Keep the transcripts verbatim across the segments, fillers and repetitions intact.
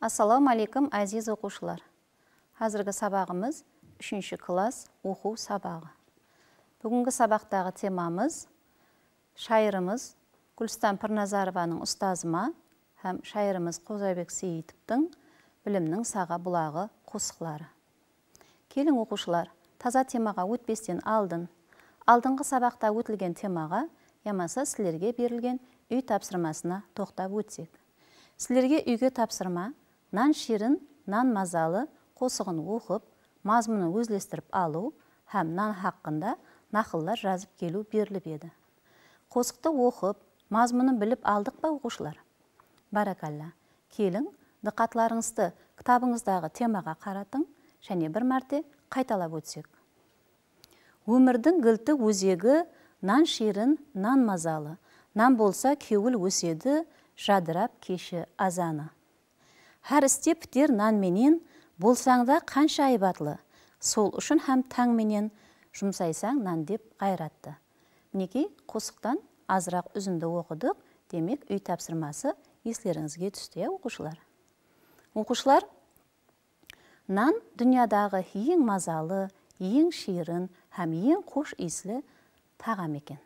Assalawma áleykum, áziz oqıwshılar! Házirgi sabaǵımız úshinshi klass oqıw sabaǵı. Búgingi sabaqtaǵı temamız shayırımız Gúlistan Pirnazarovanıń Ustazıma hám shayırımız Qozabek Seyitovtıń Bilimniń saǵa bulaǵı qosıqları. Keliń, oqıwshılar, taza temaǵa ótpesten aldın, aldınǵı sabaqta ótilgen temaǵa yamasa sizlerge berilgen úy tapsırmasına toqtap ótsek. Sizlerge úyge tapsırma, Nan shiyrin, nan mazalı qosıǵın oqıp, mazmunın ózlestirip alıw hám nan haqqında naqıllar jazıp keliw berilip edi. Qosıqtı oqıp, mazmunın bilip aldıq pa, oqıwshılar? Bárakalla! Keliń, dıqqatlarıńızdı kitabıńızdaǵı temaǵa qaratıń, jáne bir márte qaytalap ótsek. Ómirdiń gilti ózegi, nan shiyrin, nan mazalı. Nan bolsa, kewil ósedi, jadırap keshi azanı. Hár iste piter nan menen, bolsań da qansha aybatlı. Sol ushın hám tań menen jumsaysań nan dep ǵayrattı. Minekey, qosıqtan azıraq úzindi oqıdıq. Demek, úy tapsırması eslerińizge tústi, ya, oqıwshılar? Oqıwshılar, nan dúnyadaǵı eń mazalı, eń shiyrin hám eń xosh iyisli taǵam eken.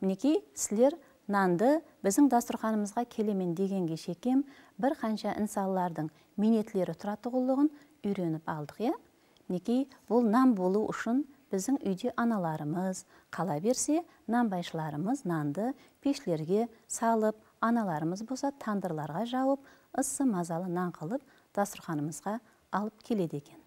Minekey, sizler nandı biziń dasturxanımızǵa kelemen degenge shekem bir qansha insanlardıń miynetleri turatuǵınlıǵın úyrenip aldıq, ya? Minekey, bul nan bolıw ushın biziń úyde analarımız, qala berse, nanbayshılarımız nandı peshlerge salıp, analarımız bolsa tandırlarǵa jawıp, ıssı mazalı nan qılıp dasturxanımızǵa alıp keledi eken.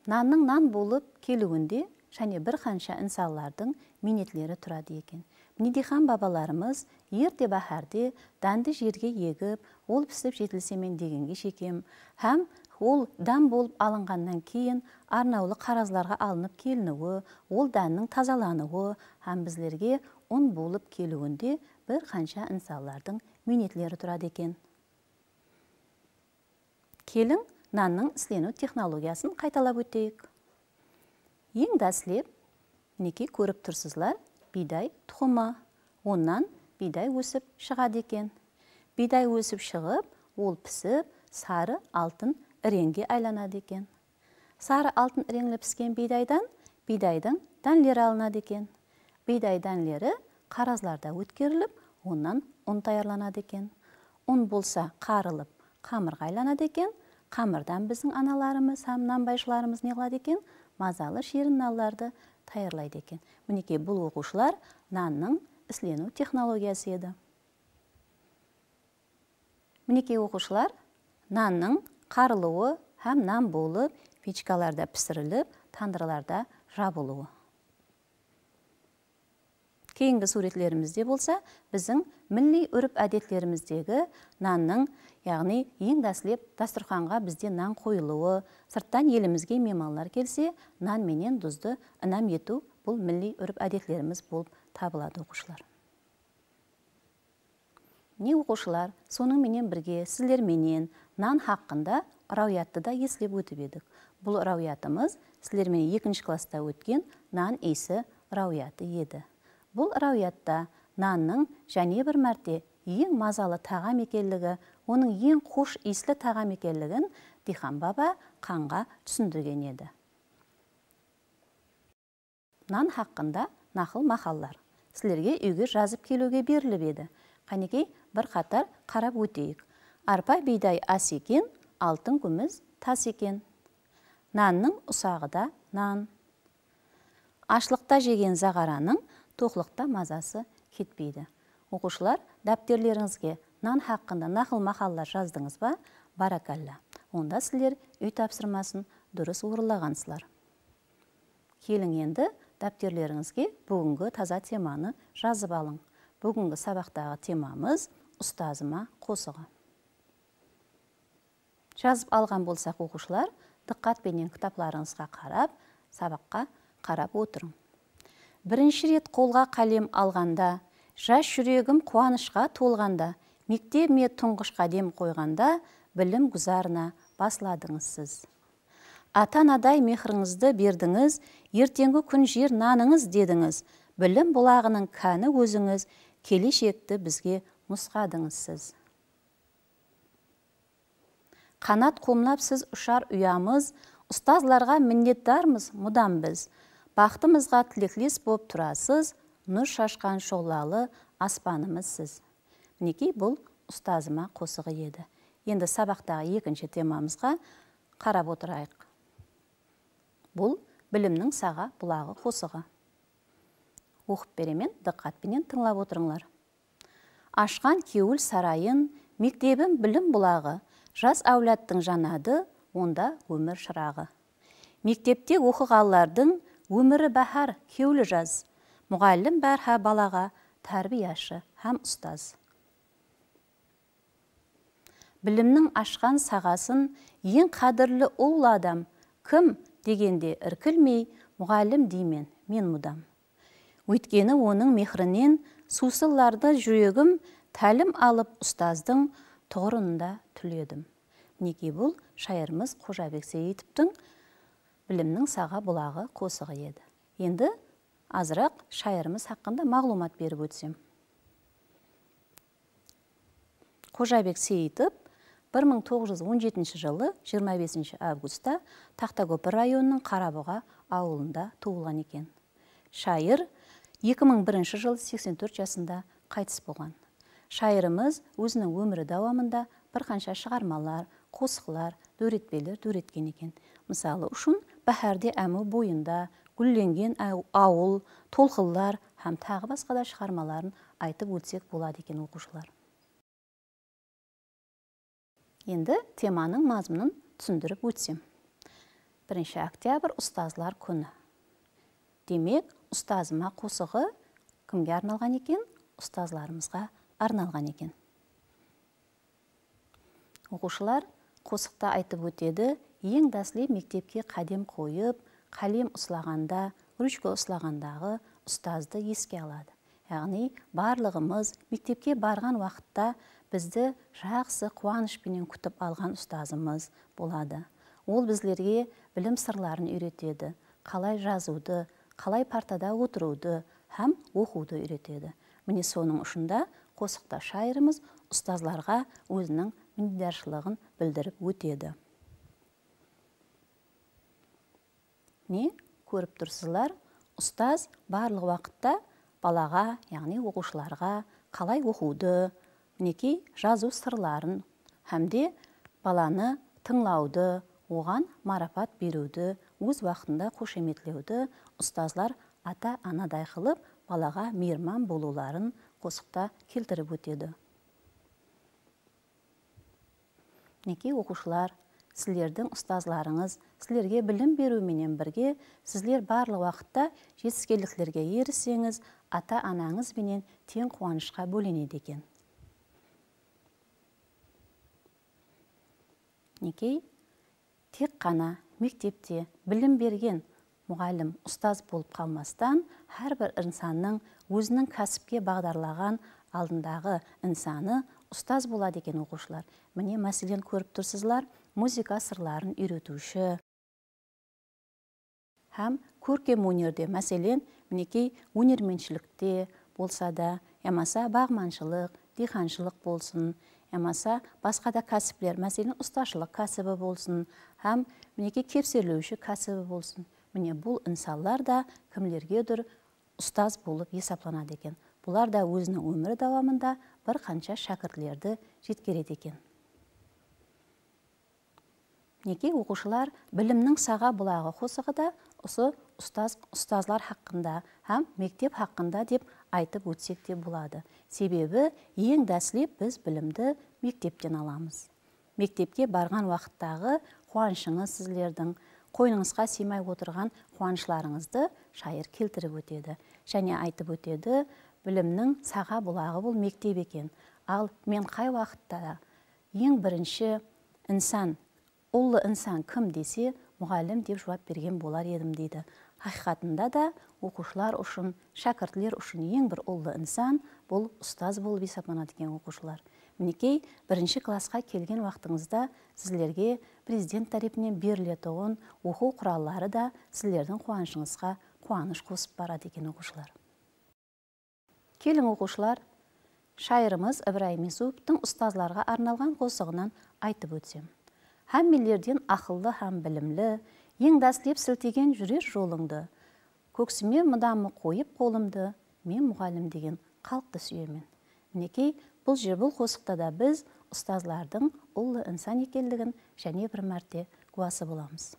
Nannıń nan bolıp keliwinde jáne bir qansha insanlardıń miynetleri turadı eken. Mine, diyqan babalarımız erte báhárde dándı jerge egip, ol pisip jetilsemen degenge shekem hám ol dán bolıp alınǵannan keyin arnawlı qarazlarǵa alınıp keliniwi, ol dánnıń tazalanıwı hám bizlerge un bolıp keliwinde bir qansha insanlardıń miynetleri turadı eken. Keliń, nannıń isleniw texnologiyasın qaytalap óteyik. Eń dáslep, minekey, kórip tursızlar, biyday tuqımı. Onnan biyday ósip shıǵadı eken. Biyday ósip shıǵıp, ol pisip, sarı altın ireńge aylanadı eken. Sarı altın ireńli pisken biydaydan biydaydıń dánleri alınadı eken. Biyday dánleri qarazlarda ótkerilip, onnan un tayarlanadı eken. Un bolsa qarılıp, qamırǵa aylanadı eken. Qamırdan biziń analarımız hám nanbayshılarımız ne qıladı eken? Mazalı shiyrin nanlardı tayarlaydı eken. Minekey, bul, oqıwshılar, nannıń isleniw texnologiyası edi. Minekey, oqıwshılar, nannıń qarılıwı hám nan bolıp, pechkalarda pisirilip, tandırlarda jabılıwı. Keyingi súwretlerimizde bolsa biziń milliy úrp-ádetlerimizdegi nannıń, yaǵnıy eń dáslep dasturxanǵa bizde nan qoyılıwı, sırttan elimizge miymanlar kelse, nan menen duzdı inam etiw, bul milliy úrp-ádetlerimiz bolıp tabıladı, oqıwshılar. Mine, oqıwshılar, sonıń menen birge sizler menen nan haqqında ráwiyattı da eslep ótip edik. Bul ráwiyatımız sizler menen ekinshi klassta ótken nan iyisi ráwiyatı edi. Bul ráwiyatta nannıń jáne bir márte eń mazalı taǵam ekenligi, onıń eń xosh iyisli taǵam ekenligin diyqan baba Qanǵa túsindirgen edi. Nan haqqında naqıl-maqallar sizlerge úyge jazıp keliwge berilip edi. Qánekey, bir qatar qarap óteyik. Arpa biyday as eken, altın kúmis tas eken. Nannıń usaǵı da nan. Ashlıqta jegen zaǵaranıń toqlıqta mazası ketpeydi. Oqıwshılar, dápterlerińizge nan haqqında naqıl-maqallar jazdıńız ba? Bárakalla. Onda sizler úy tapsırmasın durıs orınlaǵansızlar. Keliń endi, dápterlerińizge búgingi taza temanı jazıp alıń. Búgingi sabaqtaǵı temamız Ustazıma qosıǵı. Jazıp alǵan bolsaq, oqıwshılar, dıqqat penen kitaplarıńızǵa qarap, sabaqqa qarap otırıń. Birinshi ret qolǵa qálem alǵanda, jas júregim quwanıshqa tolǵanda, mektebime tuńǵısh qádem qoyǵanda, bilim gúzarına basladıńız siz. Ata-anaday mehrińizdi berdińiz, erteńgi kún jer nanıńız dedińiz, bilim bulaǵınıń káni ózińiz, keleshekti bizge nusqadıńız siz. Qanat qomlap siz ushar uyamız, ustazlarǵa minnetdarmız mudam biz. Baxtımızǵa tilekles bolıp turasız, nur shashqan shuǵlalı aspanımız siz. Minekey, bul ustazıma qosıǵı edi. Endi sabaqtaǵı ekinshi temamızǵa qarap otırayıq. Bul Bilimniń saǵa bulaǵı qosıǵı. Oqıp beremen, dıqqat penen tıńlap otırıńlar. Ashqan kewil sarayın, mektebim bilim bulaǵı, jas áwladtıń janadı, onda ómir shıraǵı. Mektepte oqıǵanlardıń ómiri báhár, kewli jaz. Muǵallim bárha balaǵa tárbiyashı hám ustaz. Bilimniń ashqan saǵasın eń qádirli ullı adam kim degende irkilmey, muǵallim deymen men mudam. Óytkeni onıń mehrinen suwsınlardı júregim, tálim alıp ustazdıń tuǵırında túledim. Minekey, bul shayırımız Xojabek Seitovtıń Bilimniń saǵa bulaǵı qosıǵı edi. Endi azıraq shayırımız haqqında maǵlıwmat berip ótsem. Xojabek Seyitov bir mıń toǵız júz on jetinshi jılı jigirma besinshi avgustta Taxtakópir rayonınıń Qarabuǵa awılında tuwılǵan eken. Shayır eki mıń birinshi jılı seksen tórt jasında qaytıs bolǵan. Shayırımız óziniń ómiri dawamında bir qansha shıǵarmalar, qosıqlar, dóretpeler dóretken eken. Mısalı ushın, Báhárde ámiw boyında, Gúllengen aw-, awıl, Tolqınlar hám taǵı basqa da shıǵarmaların aytıp ótsek boladı eken, oqıwshılar. Endi temanıń mazmunın túsindirip ótsem. Birinshi oktyabr, ustazlar kúni. Demek, ustazıma qosıǵı kimge arnalǵan eken? Ustazlarımızǵa arnalǵan eken. Oqıwshılar, qosıqta aytıp ótedi, eń dáslep mektepke qádem qoyıp, qálem uslaǵanda, ruchka uslaǵandaǵı ustazdı eske aladı. Yaǵnıy, barlıǵımız mektepke barǵan waqıtta bizdi jaqsı quwanısh penen kútip alǵan ustazımız boladı. Ol bizlerge bilim sırların úyretedi, qalay jazıwdı, qalay partada otırıwdı hám oqıwdı úyretedi. Mine, sonıń ushın da qosıqta shayırımız ustazlarǵa óziniń minnetdarshılıǵın bildirip ótedi. Mine, kórip tursızlar, ustaz barlıq waqıtta balaǵa, yaǵnıy oqıwshılarǵa qalay oqıwdı, minekey, jazıw sırların hám de balanı tıńlawdı, oǵan marapat beriwdi, óz waqtında xoshametlewdi ustazlar ata-anaday qılıp balaǵa miyirman bolıwların qosıqta keltirip ótedi. Minekey, oqıwshılar, sizlerdiń ustazlarıńız sizlerge bilim beriw menen birge, sizler barlıq waqıtta jetiskenliklerge eriseńiz, ata-anańız benen teń quwanıshqa bólenedi eken. Minekey, tek ǵana mektepte bilim bergen muǵallim ustaz bolıp qalmastan, hár bir insannıń óziniń kásipke baǵdarlaǵan aldındaǵı insanı ustaz boladı eken, oqıwshılar. Mine, máselen, kórip tursızlar, muzıka sırların úyretiwshi hám kórkem ónerde, máselen, minekey, ónermentshilikte bolsa da, yamasa baǵmanshılıq, diyqanshılıq bolsın, yamasa basqa da kásipler, máselen, ustashılıq kásibi bolsın hám, minekey, kepserlewshi kásibi bolsın. Mine, bul insanlar da kimlergedur ustaz bolıp esaplanadı eken. Bular da óziniń ómiri dawamında bir qansha shákirtlerdi jetkeredi eken. Minekey, oqıwshılar, Bilimniń saǵa bulaǵı qosıǵı da usı ustaz, ustazlar haqqında hám mektep haqqında dep aytıp ótsek te boladı. Sebebi, eń dáslep biz bilimdi mektepten alamız. Mektepke barǵan waqıttaǵı quwanıshıńız sizlerdiń, qoynıńızǵa sıymay otırǵan quwanıshlarıńızdı shayır keltirip ótedi. Jáne aytıp ótedi, Bilimniń saǵa bulaǵı bul mektep eken. Al, men qay waqıtta da eń birinshi insan, ullı insan kim dese, muǵallim dep juwap bergen bolar edim, deydi. Haqıyqatında da, oqıwshılar ushın, shákirtler ushın eń bir ullı insan bul ustaz bolıp esaplanadı eken, oqıwshılar. Minekey, birinshi klassqa kelgen waqtıńızda sizlerge Prezident tárepinen beriletuǵın oqıw quralları da sizlerdiń quwanıshıńızǵa quwanısh qosıp baradı eken, oqıwshılar. Keliń, oqıwshılar, shayırımız Ibrayım Yusupovtıń ustazlarǵa arnalǵan qosıǵınan aytıp ótsem. Hámmelerden aqıllı hám bilimli, eń dáslep siltegen júrer jolıńdı. Kóksime mıdamı qoyıp qolımdı, men muǵallim degen xalıqtı súyemen. Minekey, bul jer, bul qosıqta da biz ustazlardıń ullı insan ekenligin jáne bir márte gúwası bolamız.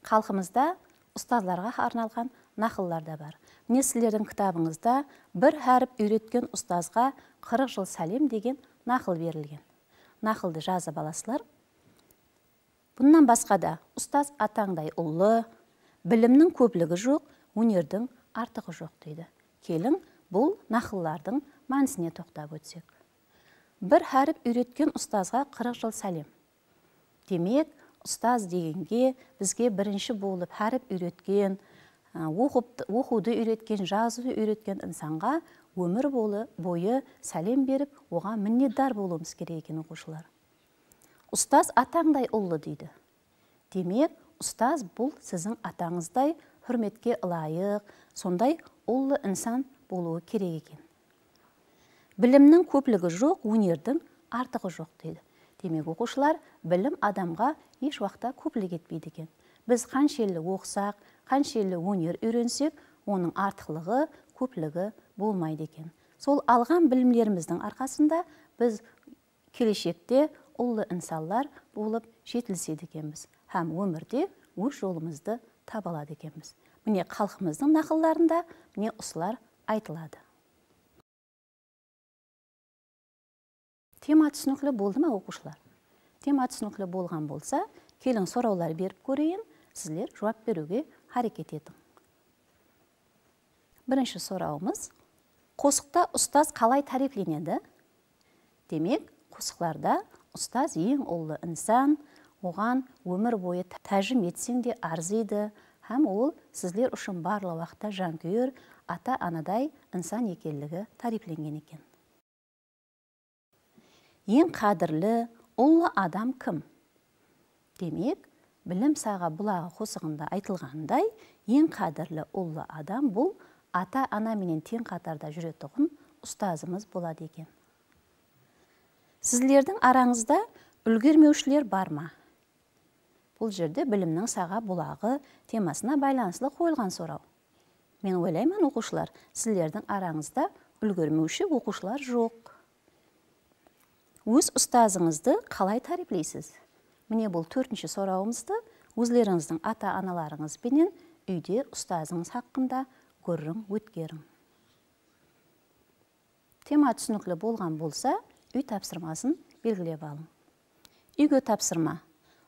Xalqımızda ustazlarǵa arnalǵan naqıllar da bar. Mine, sizlerdiń kitabıńızda "Bir hárip úyretken ustazǵa qırıq jıl sálem" degen naqıl berilgen. Naqıldı jazıp alasızlar. Bunnan basqa da, "Ustaz atańday ullı, bilimniń kópligi joq, ónerdiń artıǵı joq", deydi. Keliń, bul naqıllardıń mánisine toqtap ótsek. "Bir hárip úyretken ustazǵa qırıq jıl sálem". Demek, ustaz degenge bizge birinshi bolıp hárip úyretken, ı, oqıp, oqıwdı úyretken, jazıwdı úyretken insanǵa ómir bolı-, boyı sálem berip, oǵan minnetdar bolıwımız kerek eken, oqıwshılar. "Ustaz atańday ullı", deydi. Demek, ustaz bul siziń atańızday húrmetke ılayıq, sonday ullı insan bolıwı kerek eken. "Bilimniń kópligi joq, ónerdiń artıǵı joq", deydi. Demek, oqıwshılar, bilim adamǵa hesh waqıtta kóplik etpeydi eken. Biz qanshelli oqısaq, qanshelli óner úyrensek, onıń artıqlıǵı, kópligi bolmaydı eken. Sol alǵan bilimlerimizdiń arqasında biz keleshekte ullı insanlar bolıp jetilisedi ekenbiz hám ómirde óz jolımızdı taba aladı ekenbiz. Mine, xalqımızdıń naqıllarında mine usılar aytıladı. Tema túsinikli boldı ma, oqıwshılar? Tema túsinikli bolǵan bolsa, keliń, sorawlar berip kóreyin, sizler juwap beriwge háreket etiń. Birinshi sorawımız, qosıqta ustaz qalay táriyplenedi? Demek, qosıqlarda ustaz eń ullı insan, oǵan ómir boyı tá-, tájim etseń de arzıydı hám ol sizler ushın barlıq waqıtta jankúyer, ata-anaday insan ekenligi táriyplengen eken. Eń qádirli, ullı adam kim? Demek, Bilim saǵa bulaǵı qosıǵında aytılǵanınday, eń qádirli ullı adam bul ata-ana menen teń qatarda júretuǵın ustazımız boladı eken. Sizlerdiń arańızda úlgermewshiler bar ma? Bul jerde Bilimniń saǵa bulaǵı temasına baylanıslı qoyılǵan soraw. Men oylayman, oqıwshılar, sizlerdiń arańızda úlgermewshi oqıwshılar joq. Óz ustazıńızdı qalay táriypleysiz? Mine, bul tórtinshi sorawımızdı ózlerińizdiń ata-analarıńız benen úyde ustazıńız haqqında gúrriń ótkeriń. Tema túsinikli bolǵan bolsa, úy tapsırmasın belgilep alıń. Úyge tapsırma.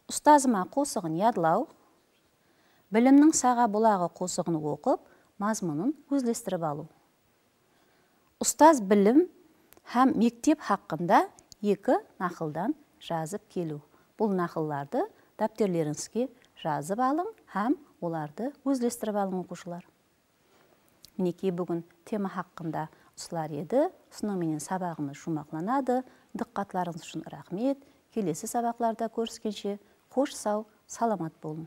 Ustazıma qosıǵın yadlaw. Bilimniń saǵa bulaǵı qosıǵın oqıp, mazmunın ózlestirip alıw. Ustaz Bilim hám mektep haqqında eki naqıldan jazıp keliw. Bul naqıllardı dápterlerińizge jazıp alıń hám olardı ózlestirip alıń, oqıwshılar. Minekey, búgin tema haqqında usılar edi. Usınıń menen sabaǵımız juwmaqlanadı. Dıqqatlarıńız ushın raxmet. Kelesi sabaqlarda kóriskenshe, xosh, saw, salamat bolıń.